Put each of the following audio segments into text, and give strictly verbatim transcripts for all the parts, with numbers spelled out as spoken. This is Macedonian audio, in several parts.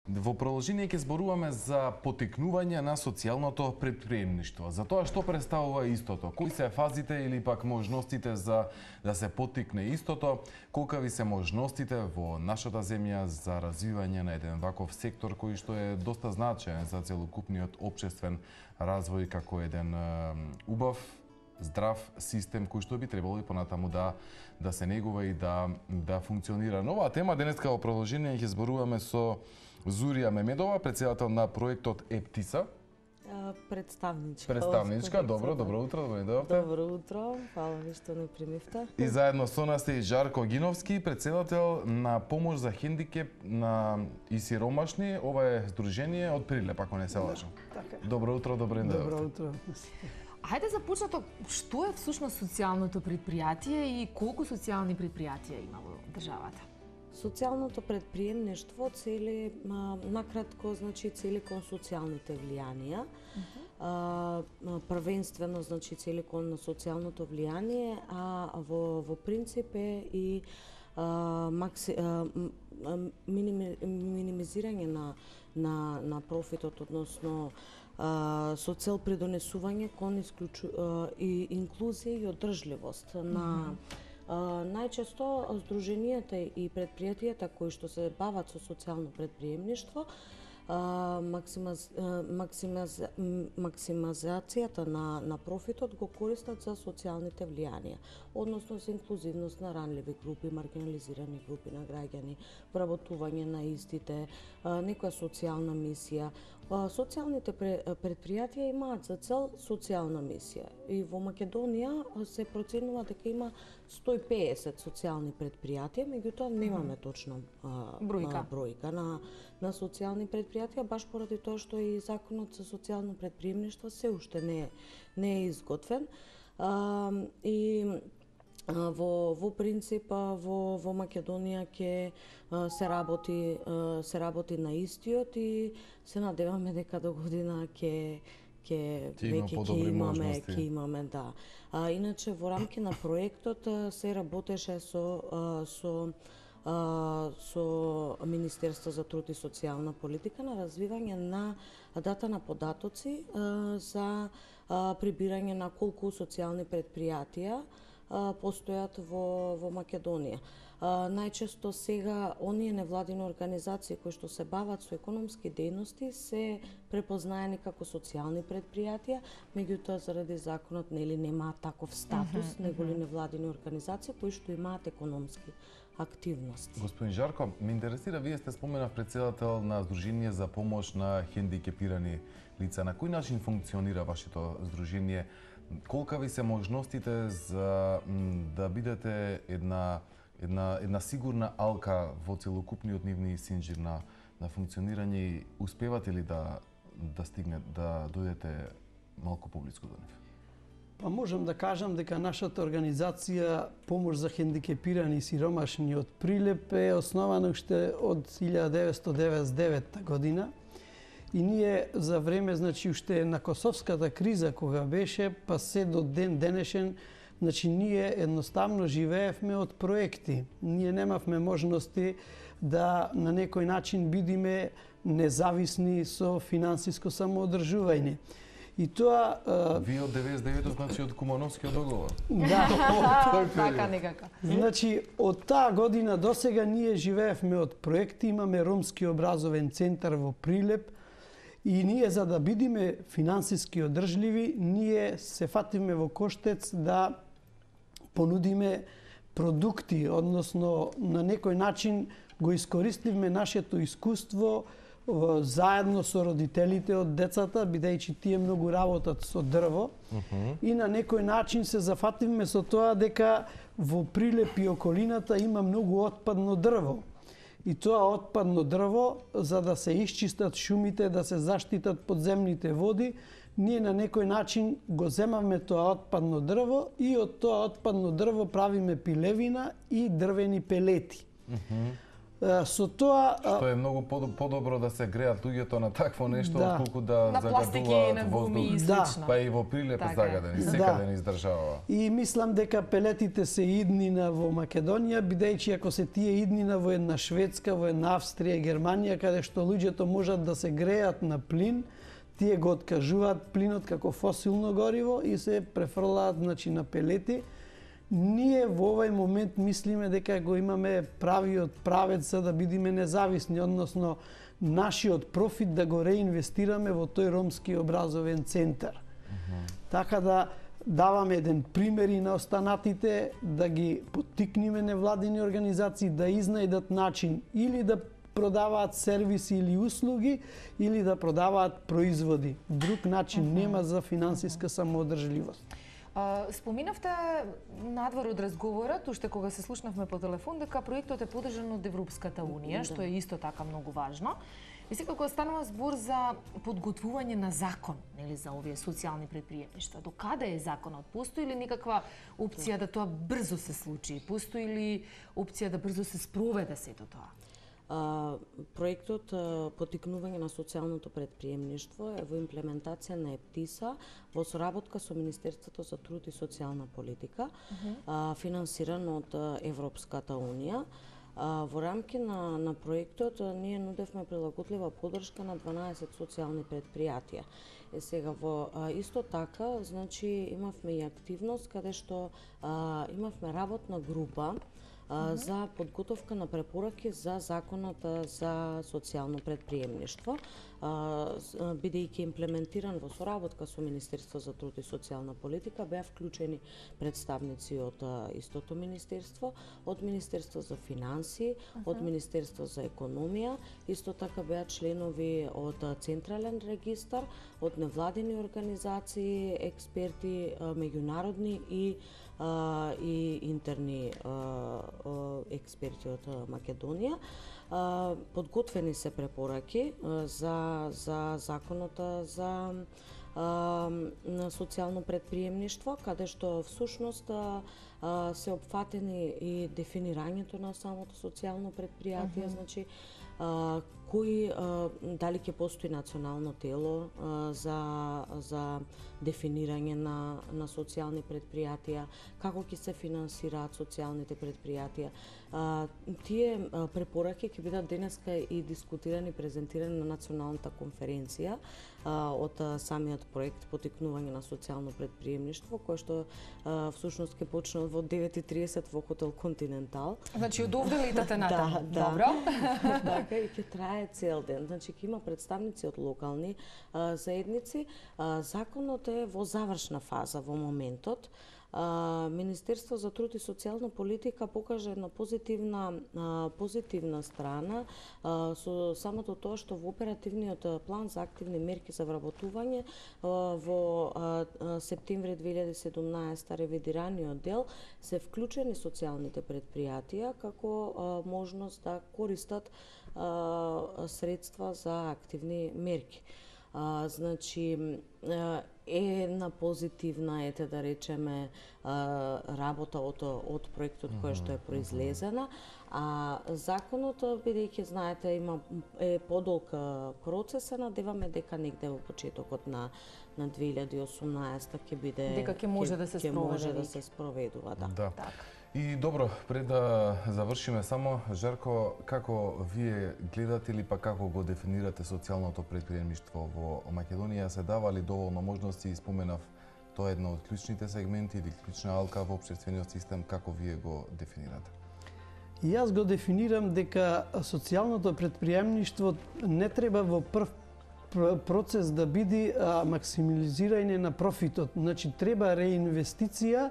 Во продолжение ќе зборуваме за поттикнување на социјалното претприемништво. За тоа што представува истото, кои се фазите или пак можностите за да се поттикне истото, колкави се можностите во нашата земја за развивање на еден ваков сектор кој што е доста значаен за целокупниот општествен развој како еден убав, здрав систем кој што би требало и понатаму да да се негува и да да функционира. На оваа тема денеска во продолжение ќе зборуваме со Зурија Мемедова, председател на проектот Ептиса. Представничка. Представничка, добро, добро утро, добро дојдовте. Добро утро, фала ви што не примивте. И заедно со нас е Жарко Гиновски, председател на помош за хендикеп на и сиромашни. Ова е здружение од Прилеп, ако не се лажам. Да, така. Добро утро, добро дојдовте. Добро утро. Хајде започнато, што е всушност социјалното предпријатие и колку социјални предпријатија има во државата? Социјалното предприемништво цели, а, накратко, значи цели кон социјалните влијанија. Uh -huh. а, првенствено, значи цели кон на социјалното влијание, а во, во принцип е и а, макси, а, миними, минимизирање на, на, на профитот, односно а, со цел придонесување кон исклучу, а, и инклузија и одржливост на uh -huh. Uh, најчесто здруженијата и предпријатијата кои што се бават со социјално предприемништво, uh, максимаз, uh, максимаз, максимизацијата на, на профитот го користат за социјалните влијанија, односно за инклузивност на ранливи групи, маргинализирани групи на граѓани, вработување на истите, uh, некоја социјална мисија. Uh, социјалните предпријатија имаат за цел социјална мисија и во Македонија се проценува дека има сто и педесет социјални предпријатија, меѓутоа немаме точно а, бројка, бројка на, на социјални предпријатија, баш поради тоа што и законот за социјално предприемништво се уште не, не е изготвен. А, и а, во, во принцип во, во Македонија ќе се работи се работи на истиот и се надеваме дека до година ќе ќе веќе ќе имаме, ќе имаме, да. А, иначе во рамки на проектот се работеше со со со Министерство за труд и социјална политика на развивање на дата на податоци за прибирање на колку социјални предпријатија постојат во во Македонија. Uh, најчесто сега оние невладини организации кои што се бават со економски дејности се препознаени како социјални предпријатија, меѓутоа заради законот нели немаат таков статус, uh -huh, неголи uh -huh. невладини организации кои што имаат економски активности. Господин Жарко, ме интересира, вие сте споменав председател на Здружение за помош на хендикепирани лица. На кој начин функционира вашето здружение? Колкави се можностите за да бидете една една една сигурна алка во целокупниот нивни синџир на на функционирање и успевате ли да да стигне да дојдете малку поблиску до нив? Па можам да кажам дека нашата организација Помош за хендикепирани и сиромашни од Прилеп е основана уште од илјада деветстотини деведесет и девета година. И ние за време, значи, уште на Косовската криза кога беше, па се до ден денешен, значи, ние едноставно живеевме од проекти. Ние немавме можности да на некој начин бидиме независни со финансиско самоодржување. И тоа... Вие од деветдесет и девета, значи, од Кумановскиот договор. Да. Така некако. Значи, од таа година до сега ние живеевме од проекти, имаме ромски образовен центар во Прилеп, и ние, за да бидиме финансиски одржливи, ние се фатиме во коштец да понудиме продукти, односно на некој начин го искористивме нашето искуство заедно со родителите од децата, бидејќи тие многу работат со дрво. Uh -huh. И на некој начин се зафативме со тоа дека во Прилеп и околината има многу отпадно дрво. И тоа отпадно дрво, за да се исчистат шумите, да се заштитат подземните води, ние на некој начин го земавме тоа отпадно дрво и од тоа отпадно дрво правиме пилевина и дрвени пелети. Uh -huh. Со тоа Што е многу подобро да се греат луѓето на такво нешто, Да. отколку да На пластики, на загадуваат гуми и воздух. Да. слично. Па и во Прилеп Така е. загадени, Да. секаде ни издржава. И мислам дека пелетите се иднина во Македонија, бидејќи ако се тие иднина во една Шведска, во една Австрија, Германија, каде што луѓето можат да се греат на плин, тие го откажуваат плинот како фосилно гориво и се префрлаат, значи, на пелети. Ние во овој момент мислиме дека го имаме правиот правец за да бидеме независни, односно нашиот профит да го реинвестираме во тој ромски образовен центар. Uh-huh. Така да даваме еден пример и на останатите, да ги поттикнеме невладини организации да изнајдат начин или да продаваат сервиси или услуги, или да продаваат производи. Друг начин uh-huh. нема за финансиска самоодржливост. Споминавте надвор од разговорот, уште кога се слушнавме по телефон, дека проектот е подржан од Европската Унија, што е исто така многу важно. И сега кога станува збор за подготвување на закон, нели, за овие социјални предприемништва, до каде е законот? Постои ли некаква опција да тоа брзо се случи? Постои ли опција да брзо се спроведе сето тоа? А, проектот а, Поттикнување на социјалното предприемништво е во имплементација на ЕПТИСА во соработка со Министерството за труд и социјална политика, uh-huh. а, финансиран од Европската Унија. А, во рамки на, на проектот а, ние нудевме прилагодлива поддршка на дванаесет социјални предпријатија. Е сега во а, исто така, значи имавме и активност каде што а, имавме работна група Uh-huh. за подготовка на препораки за законот за социјално предприемништво, бидејќи имплементиран во соработка со Министерство за труд и социјална политика, беа вклучени представници од истото министерство, од Министерство за финансии, uh-huh. од Министерство за економија, исто така беа членови од Централен регистар, од невладини организации, експерти меѓународни и Uh, и интерни uh, uh, експерти од uh, Македонија. Uh, подготвени се препораки uh, за, за законот за uh, социјално предприемништво, каде што всушност uh, uh, се опфатени и дефинирањето на самото социјално предпријатие, uh-huh. значи uh, кои uh, дали ќе постои национално тело uh, за за дефинирање на на социјални предпријатија, како ќе се финансираат социјалните предпријатија. Uh, тие uh, препораки ќе бидат денеска и дискутирани, презентирани на националната конференција uh, од uh, самиот проект Поттикнување на социјално предприемништво, кој што uh, всушност ќе почне во девет и триесет во хотел Континентал. Значи од овде летате натаму. Да, да. Добро. Така и ќе трае цел ден. Значи ќе има представници од локални а, заедници. А, законот е во завршна фаза во моментот. А, Министерство за труд и социјална политика покажа една позитивна а, позитивна страна а, со самото тоа што во оперативниот план за активни мерки за вработување а, во а, а, септември две илјади и седумнаесета ревидираниот дел се вклучени социјалните предпријатија како а, можност да користат а, средства за активни мерки. А, значи е една позитивна, ете да речеме, работа од, од проектот која што е произлезена, а законот, бидејќи знаете, има е подолг процес, се надеваме дека негде во почетокот на на две илјади и осумнаесета ќе биде дека ќе може да се ќе спроведе. може да се спроведува, да. Да. Така. И добро, пред да завршиме само, Жарко, како вие гледате или па како го дефинирате социјалното предприемништво во Македонија? Се дава ли доволно можности? Споменав, тоа е една од клучните сегменти или клучна алка во општествениот систем, како вие го дефинирате? И јас го дефинирам дека социјалното предприемништво не треба во прв процес да биде а, максимализирање на профитот. Значи, треба реинвестиција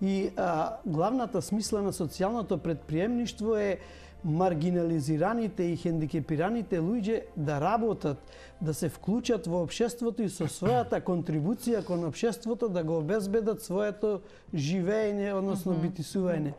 и а, главната смисла на социјалното предприемништво е маргинализираните и хендикепираните луѓе да работат, да се вклучат во општеството и со својата контрибуција кон општеството да го обезбедат своето живење, односно Mm-hmm. битисување.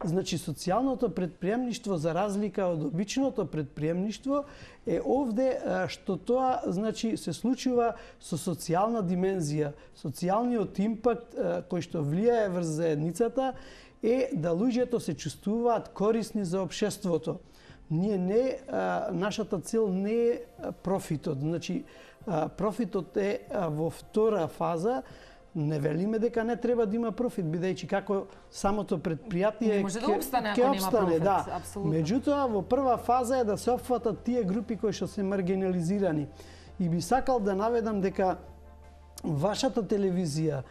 Значи, социјалното предприемништво, за разлика од обичното предприемништво, е овде што тоа, значи, се случува со социјална димензија. Социјалниот импакт кој што влијае врз заедницата е да луѓето се чувствуваат корисни за општеството. Ние не, а, нашата цел не е профитот. Значи, а, профитот е а, во втора фаза. Не велиме дека не треба да има профит, бидејќи како самото предпријатие не може да опстане ако нема профит, да. апсолутно. Меѓутоа, во прва фаза е да се опфатат тие групи кои што се маргинализирани. И би сакал да наведам дека вашата телевизија,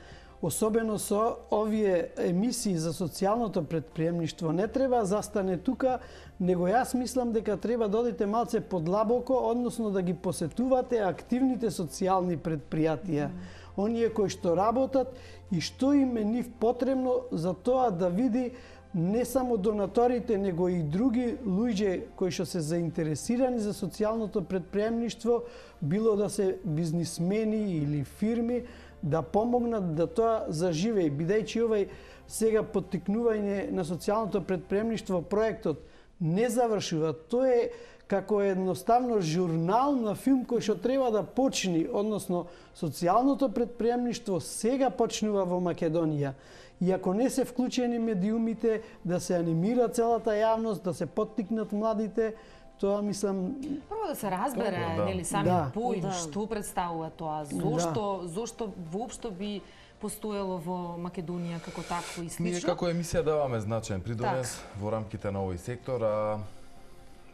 особено со овие емисии за социјалното предприемништво, не треба застане тука, него јас мислам дека треба да одите малце подлабоко, односно да ги посетувате активните социјални предпријатија. Mm. Оние кои што работат и што им е нив потребно за тоа да види не само донаторите, него и други луѓе кои што се заинтересирани за социјалното предприемништво, било да се бизнисмени или фирми, да помогнат да тоа заживее, бидејќи овај сега поттикнување на социјалното предприемништво проектот не завршува. Тоа е како едноставно журнал на филм кој што треба да почни, односно социјалното предприемништво сега почнува во Македонија. И ако не се вклучени медиумите, да се анимира целата јавност, да се поттикнат младите, тоа мислам прво да се разбере, Добро, да. нели, сами Да. поим Да. што представува тоа, зошто да. зошто воопшто би постоело во Македонија како такво и Ние слично. како емисија даваме значаен придонес во рамките на овој сектор, а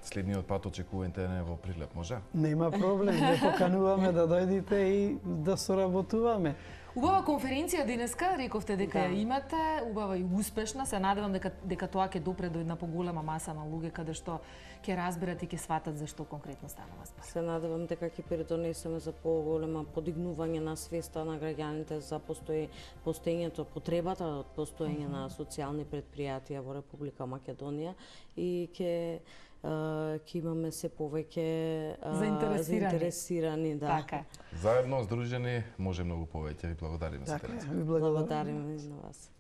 следниот пат очекувате не во Прилеп, може? нема проблем, не покануваме да дојдете и да соработуваме. Убава конференција денеска, рековте дека Да. ја имате, убава и успешна, се надевам дека дека тоа ќе допре до една поголема маса на луѓе каде што ќе разберат и ќе сватат за што конкретно станува збор. Се надевам дека ќе придонесеме за поголема подигнување на свеста на граѓаните за постои, постоењето, потребата од постоење на социјални предпријатија во Република Македонија и ќе ќе имаме се повеќе а, Заинтересирани. заинтересирани, да. Така е. Заедно, здружени, може многу повеќе. Ви благодариме за Така, теренци. ви благодарам. Благодариме на вас.